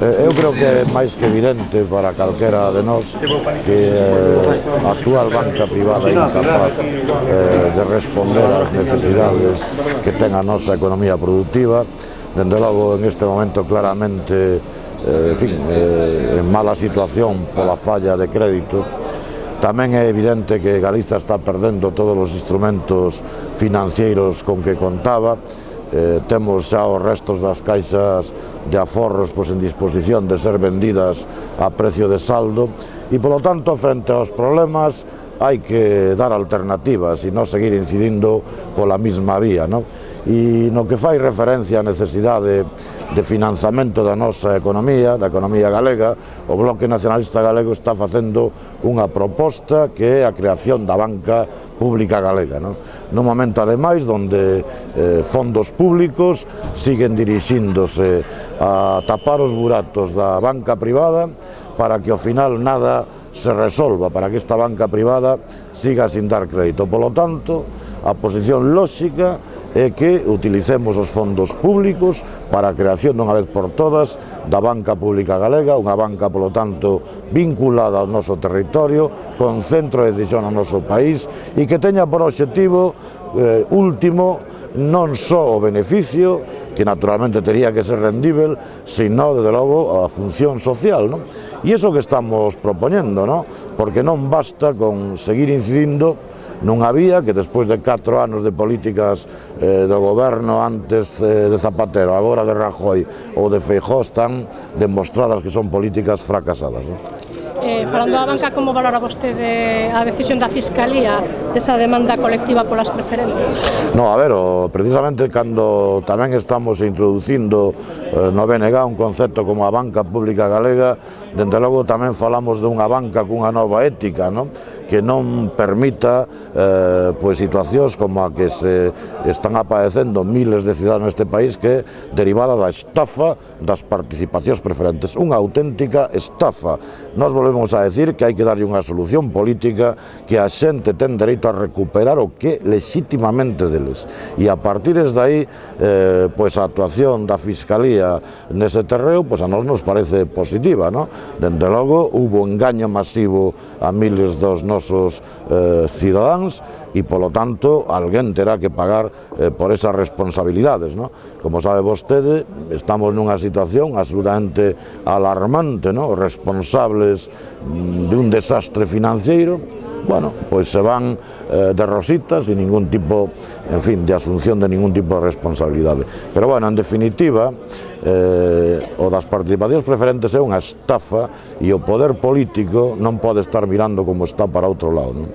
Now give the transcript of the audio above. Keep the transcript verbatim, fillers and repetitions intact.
Eu creo que é máis que evidente para calquera de nós que a actual banca privada é incapaz de responder ás necesidades que ten a nosa economía productiva. Dende logo, en este momento, claramente, en fin, en mala situación pola falla de crédito. Tamén é evidente que Galiza está perdendo todos os instrumentos financeiros con que contaba. Eh, temos xa os restos das caixas de aforros pois, en disposición de ser vendidas a precio de saldo e, polo tanto, frente aos problemas hai que dar alternativas e non seguir incidindo pola mesma vía, non? E no que fai referencia á necesidade de financiamento da nosa economía, da economía galega, o Bloque Nacionalista Galego está facendo unha proposta que é a creación da banca pública galega, non? Nun momento, ademais, onde eh, fondos públicos siguen dirixíndose a tapar os buratos da banca privada para que ao final nada se resolva, para que esta banca privada siga sin dar crédito. Polo tanto, a posición lóxica é que utilicemos os fondos públicos para a creación dunha vez por todas da banca pública galega, unha banca, polo tanto, vinculada ao noso territorio, con centro de decisión no noso país e que teña por obxectivo eh, último non só o beneficio, que naturalmente tería que ser rendível, sino, desde logo, a función social, non? E iso que estamos propoñendo, non? Porque non basta con seguir incidindo nunha vía que despois de catro anos de políticas eh, do goberno antes eh, de Zapatero, agora de Rajoy ou de Feijóo, están demostradas que son políticas fracasadas, non? Eh, falando da banca, como valora vostede a decisión da Fiscalía desa demanda colectiva polas preferentes? No, a ver, o, precisamente cando tamén estamos introducindo eh, no B N G un concepto como a banca pública galega, dende logo tamén falamos dunha banca cunha nova ética, non? Que non permita eh, pues, situacións como a que se están aparecendo miles de cidadanos neste país, que é derivada da estafa das participacións preferentes, unha auténtica estafa. Nos volvemos a decir que hai que darlle unha solución política, que a xente ten dereito a recuperar o que legitimamente deles, e a partir de aí eh, pues, a actuación da Fiscalía nese terreo pues, a nos nos parece positiva, ¿no? Dende logo, hubo engaño masivo a miles dos nosos eh, cidadáns e, polo tanto, alguén terá que pagar eh, por esas responsabilidades, ¿no? Como sabe vostede, estamos nunha situación absolutamente alarmante, ¿no? Os responsables de un desastre financiero, bueno, pois se van eh, de rositas sin ningún tipo, en fin, de asunción de ningún tipo de responsabilidade. Pero, bueno, en definitiva, eh, o das participacións preferentes é unha estafa e o poder político non pode estar mirando como está para outro lado, non?